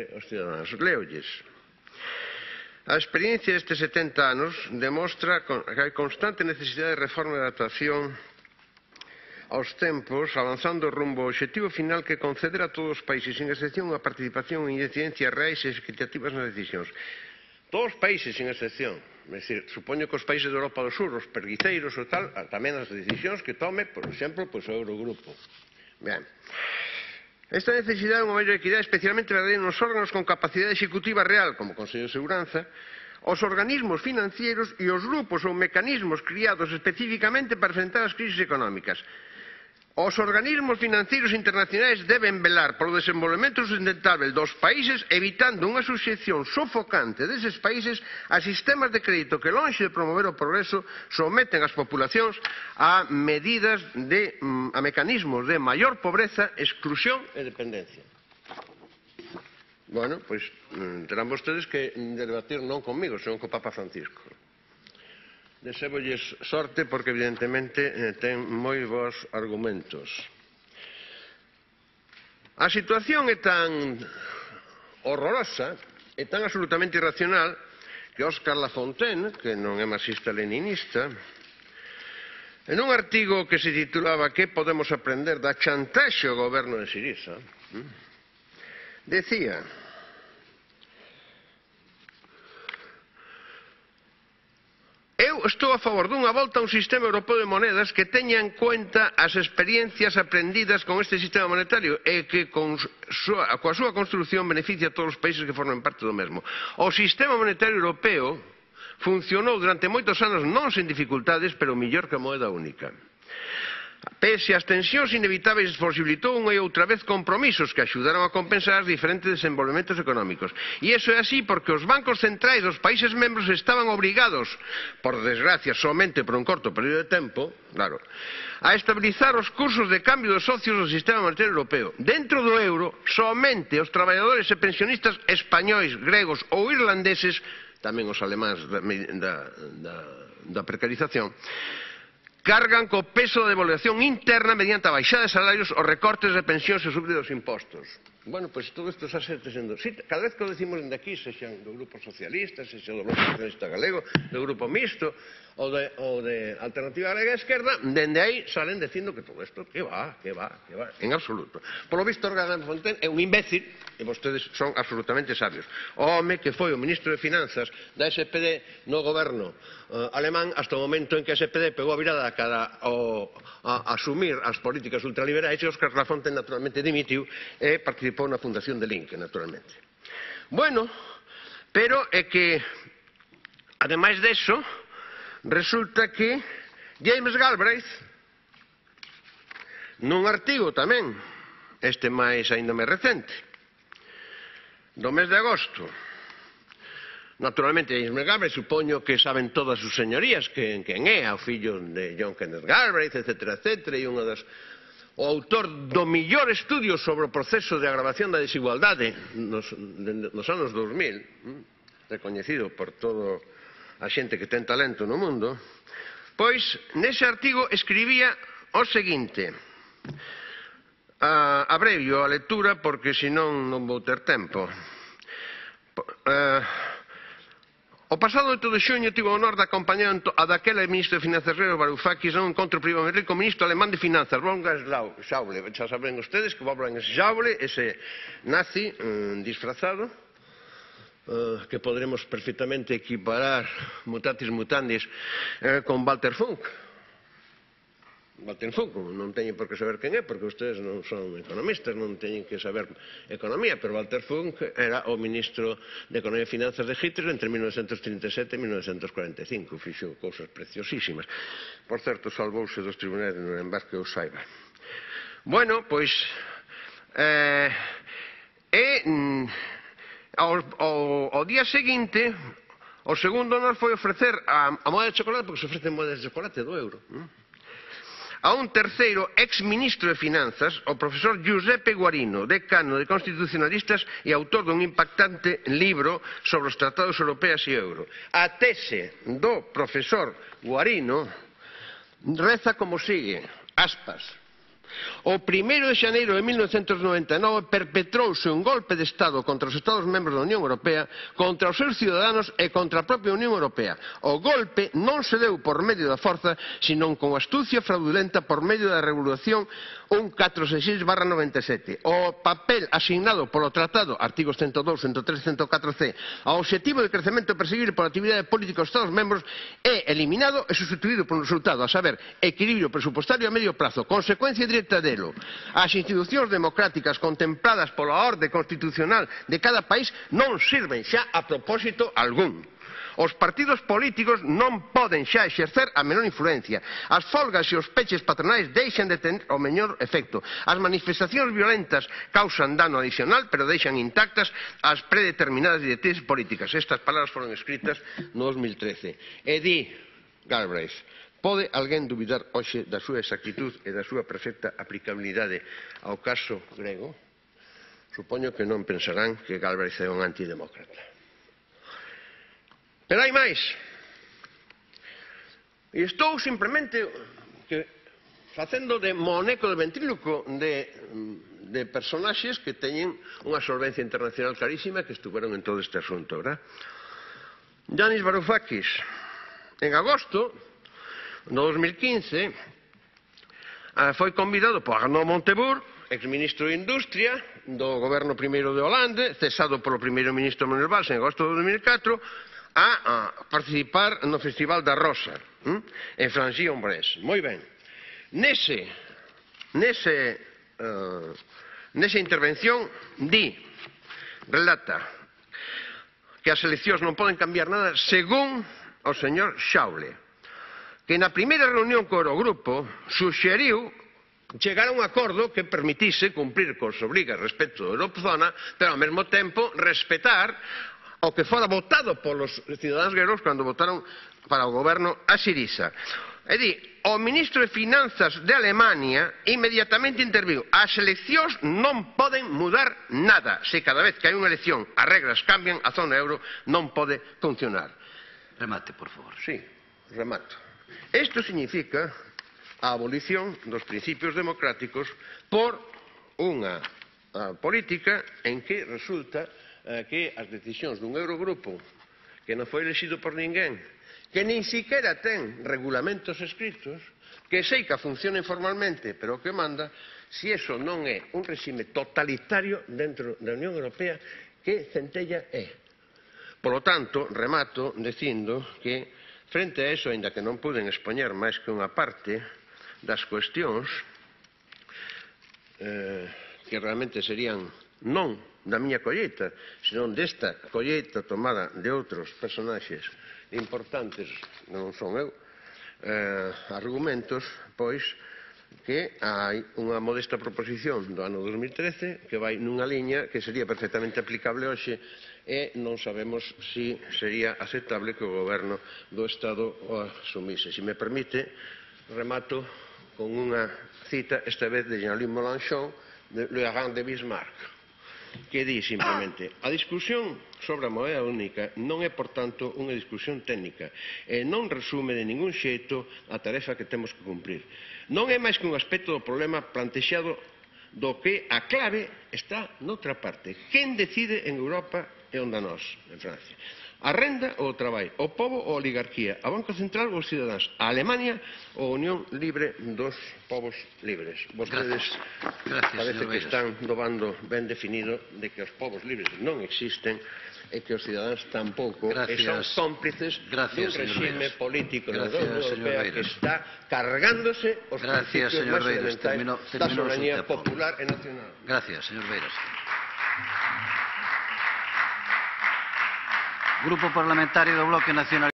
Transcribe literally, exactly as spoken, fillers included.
e os cidadáns. Leolles. A experiencia destes setenta anos demostra que hai constante necesidade de reforma e adaptación aos tempos, avanzando rumbo ao obxectivo final que conceder a todos os países, sin excepción, a participación e incidencias reais e equitativas nas decisións. Todos os países, sin excepción. É dicir, supoño que os países de Europa do Sur, os perguiceiros ou tal, tamén as decisións que tome, por exemplo, pois, o Eurogrupo. Ben. Esta necesidade de unha maior equidade especialmente verdadeira nos órganos con capacidade executiva real, como o Consello de Seguranza, os organismos financieros e os grupos ou mecanismos criados especificamente para enfrentar as crisis económicas. Os organismos financeiros internacionais deben velar polo desenvolvemento sustentável dos países, evitando unha suxección sofocante deses países a sistemas de crédito que, lonxe de promover o progreso, someten as populacións a medidas de, a mecanismos de maior pobreza, exclusión e dependencia. Bueno, pois terán vostedes que debatir non comigo, senón co Papa Francisco. Desébolles sorte porque evidentemente ten moi bons argumentos. A situación é tan horrorosa, é tan absolutamente irracional que Óscar Lafontaine, que non é marxista-leninista, en un artigo que se titulaba "Que podemos aprender da chantaxe ao goberno de Siriza?", decía: eu estou a favor dunha volta a un sistema europeo de monedas que teña en cuenta as experiencias aprendidas con este sistema monetario e que con súa, coa súa construción beneficia a todos os países que forman parte do mesmo. O sistema monetario europeo funcionou durante moitos anos non sen dificultades, pero mellor que a moeda única. Pese ás tensións inevitáveis, posibilitou unha e outra vez compromisos que axudaron a compensar os diferentes desenvolvementos económicos. E iso é así porque os bancos centrais dos países membros estaban obrigados, por desgracia, somente por un corto período de tempo, claro, a estabilizar os cursos de cambio dos socios do sistema monetario europeo. Dentro do euro, somente os traballadores e pensionistas españois, gregos ou irlandeses, tamén os alemáns da, da, da, da precarización, cargan co peso da devaluación interna mediante a baixada de salarios, os recortes de pensións e subida dos impostos. Bueno, pois todo isto xa se está sendo... Sí, cada vez que o decimos dende aquí, sexan do Grupo Socialista, sexan do Bloque Nacionalista Galego, do Grupo Mixto, ou de, ou de Alternativa Galega e Esquerda, dende aí salen dicindo que todo isto, que va, que va, que va, en absoluto. Por lo visto, Óscar Lafontaine é un imbécil, e vostedes son absolutamente sabios. O home que foi o ministro de Finanzas da S P D no goberno uh, alemán hasta o momento en que a S P D pegou a virada cara ao, a, a asumir as políticas ultraliberais e Óscar Lafontaine naturalmente dimitiu e participou na fundación de Linke, naturalmente. Bueno, pero é que, ademais deso, resulta que James Galbraith, nun artigo tamén, este máis aínda máis recente, do mes de agosto, naturalmente James Galbraith, supoño que saben todas as señorías quen é, o fillo de John Kenneth Galbraith, etcétera, etcétera, e unha das... o autor do millor estudio sobre o proceso de agravación da desigualdade nos, nos anos dos mil, recoñecido por toda a xente que ten talento no mundo, pois nese artigo escribía o seguinte, uh, abrevio a lectura porque senón non vou ter tempo. Uh, O pasado oito de xuño tivo o honor de acompañar a daquela ministro de Finanzas Rero Varoufakis a un encontro privado en Madrid co ministro alemán de Finanzas, Wolfgang Schäuble. Xa saben ustedes que Wolfgang Schäuble, ese nazi um, disfrazado, uh, que podremos perfectamente equiparar mutatis mutandis uh, con Walter Funk. Walter Funk non teñen por que saber quen é, porque ustedes non son economistas, non teñen que saber economía, pero Walter Funk era o ministro de Economía e Finanzas de Hitler entre mil novecientos trinta e sete e mil novecientos cuarenta e cinco, fixo cousas preciosísimas. Por certo, salvouse dos tribunais de Nuremberg que eu saiba. Bueno, pois, eh, e ao, ao, ao día seguinte, o segundo honor foi ofrecer a, a moeda de chocolate, porque se ofrecen moedas de chocolate do euro, non? A un terceiro ex-ministro de Finanzas, o profesor Giuseppe Guarino, decano de Constitucionalistas e autor dun impactante libro sobre os tratados europeos e euro. A tese do profesor Guarino reza como sigue, aspas, O primeiro de xaneiro de mil novecentos noventa e nove perpetrouse un golpe de Estado contra os Estados membros da Unión Europea, contra os seus ciudadanos e contra a propia Unión Europea. O golpe non se deu por medio da forza, senón con astucia fraudulenta por medio da Regulación un catrocentos sesenta e seis barra noventa e sete. O papel asignado polo Tratado, artigos ciento dous, ciento tres e ciento catro C, ao obxectivo de crecemento perseguido pola actividade política dos Estados membros é eliminado e substituído por un resultado, a saber, equilibrio presupuestario a medio prazo, consecuencia directa delo. As institucións democráticas contempladas pola orde constitucional de cada país non sirven xa a propósito algún. Os partidos políticos non poden xa exercer a menor influencia. As folgas e os peches patronais deixan de ter o mellor efecto. As manifestacións violentas causan dano adicional, pero deixan intactas as predeterminadas directrices políticas. Estas palabras foron escritas no dos mil trece. E di Galbraith: pode alguén dubidar hoxe da súa exactitud e da súa perfecta aplicabilidade ao caso grego? Supoño que non pensarán que Galbraith é un antidemócrata. Pero hai máis. E estou simplemente que, facendo de moneco de ventríloco de, de personaxes que teñen unha solvencia internacional clarísima que estuveron en todo este asunto, verdad? Yanis Varoufakis, en agosto no dos mil quince, foi convidado por Arnaud Montebourg, exministro de Industria do goberno primeiro de Hollande, cesado polo primeiro ministro Manuel Valls en agosto de dos mil catro, a participar no Festival da Rosa, en Frangy-en-Bresse. Moi ben. Nese, nese, uh, nesa intervención di, relata, que as eleccións non poden cambiar nada según o señor Xaule, que na primeira reunión co Eurogrupo suxeriu chegar a un acordo que permitise cumprir cos obrigas respecto da Eurozona, pero ao mesmo tempo respetar o que fora votado polos cidadáns gregos cando votaron para o goberno a Syriza. É dicir, o ministro de Finanzas de Alemania inmediatamente interviu. As eleccións non poden mudar nada. Se cada vez que hai unha elección as regras cambian, a zona euro non pode funcionar. Remate, por favor. Sí, remato. Isto significa a abolición dos principios democráticos por unha política en que resulta que as decisións dun Eurogrupo que non foi elexido por ninguén, que nin siquiera ten regulamentos escritos, que seica funciona informalmente, pero que manda, si eso non é un regime totalitario dentro da Unión Europea, que centella é. Por lo tanto, remato dicindo que, frente a eso, aínda que non puden expoñer máis que unha parte das cuestións, eh, que realmente serían non da miña colleita, senón desta colleita tomada de outros personaxes importantes, non son eu, eh, argumentos, pois, que hai unha modesta proposición do ano dos mil trece que vai nunha liña que sería perfectamente aplicable hoxe e non sabemos se sería aceptable que o goberno do Estado o asumise. Se me permite, remato con unha cita, esta vez de Jean-Luc Mélenchon, de Le Hareng de Bismarck, que di simplemente: a discusión sobre a moeda única non é, por tanto, unha discusión técnica e non resume de ningún xeito a tarefa que temos que cumprir. Non é máis que un aspecto do problema plantexado do que a clave está noutra parte. Quen decide en Europa e onde nós, en Francia? A renda ou o traballo? O pobo ou a oligarquía? A Banco Central ou os cidadáns? A Alemania ou a Unión Libre dos Povos Libres? Vostedes parece que están no bando ben definido de que os povos libres non existen e que os cidadáns tampouco, e son cómplices dun regime político da Unión Europea que está cargándose os principios máis elementais da soberanía popular e nacional. Gracias, señor Beiras. Grupo Parlamentario do Bloque Nacional